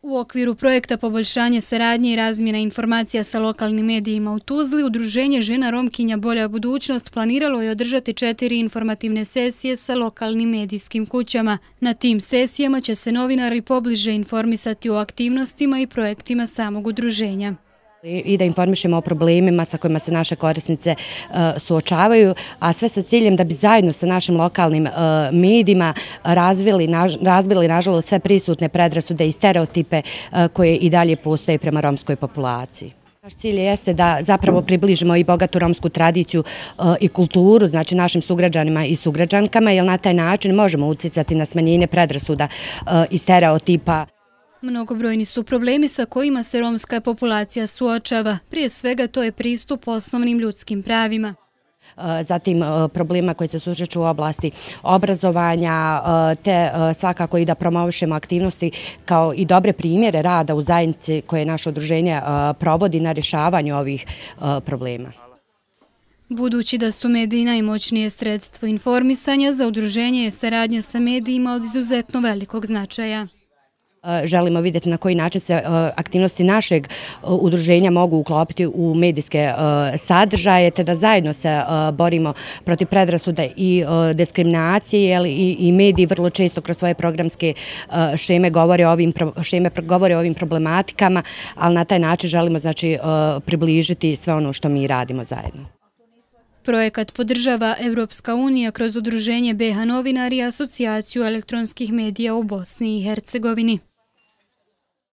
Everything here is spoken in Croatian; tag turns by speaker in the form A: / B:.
A: U okviru projekta poboljšanje saradnje i razmjena informacija sa lokalnim medijima u Tuzli, Udruženje žena Romkinja Bolja budućnost planiralo je održati 4 informativne sesije sa lokalnim medijskim kućama. Na tim sesijama će se novinari pobliže informisati o aktivnostima i projektima samog udruženja.
B: I da informišemo o problemima sa kojima se naše korisnice suočavaju, a sve sa ciljem da bi zajedno sa našim lokalnim medijima razbili nažalost sve prisutne predrasude i stereotipe koje i dalje postoje prema romskoj populaciji. Naš cilj jeste da zapravo približimo i bogatu romsku tradiciju i kulturu, znači našim sugrađanima i sugrađankama, jer na taj način možemo uticati na smanjenje predrasuda i stereotipa.
A: Mnogobrojni su problemi sa kojima se romska populacija suočava. Prije svega to je pristup osnovnim ljudskim pravima.
B: Zatim problema koji se susreću u oblasti obrazovanja, te svakako i da promovišemo aktivnosti kao i dobre primjere rada u zajednici koje naše udruženje provodi na rješavanju ovih problema.
A: Budući da su mediji najmoćnije sredstvo informisanja, za udruženje je saradnja sa medijima od izuzetno velikog značaja.
B: Želimo vidjeti na koji način se aktivnosti našeg udruženja mogu uklopiti u medijske sadržaje, te da zajedno se borimo protiv predrasuda i diskriminacije, jer i mediji vrlo često kroz svoje programske šeme govore o ovim problematikama, ali na taj način želimo znači približiti sve ono što mi radimo zajedno.
A: Projekat podržava Evropska unija kroz Udruženje BiH novinari i Asocijaciju elektronskih medija u Bosni i Hercegovini.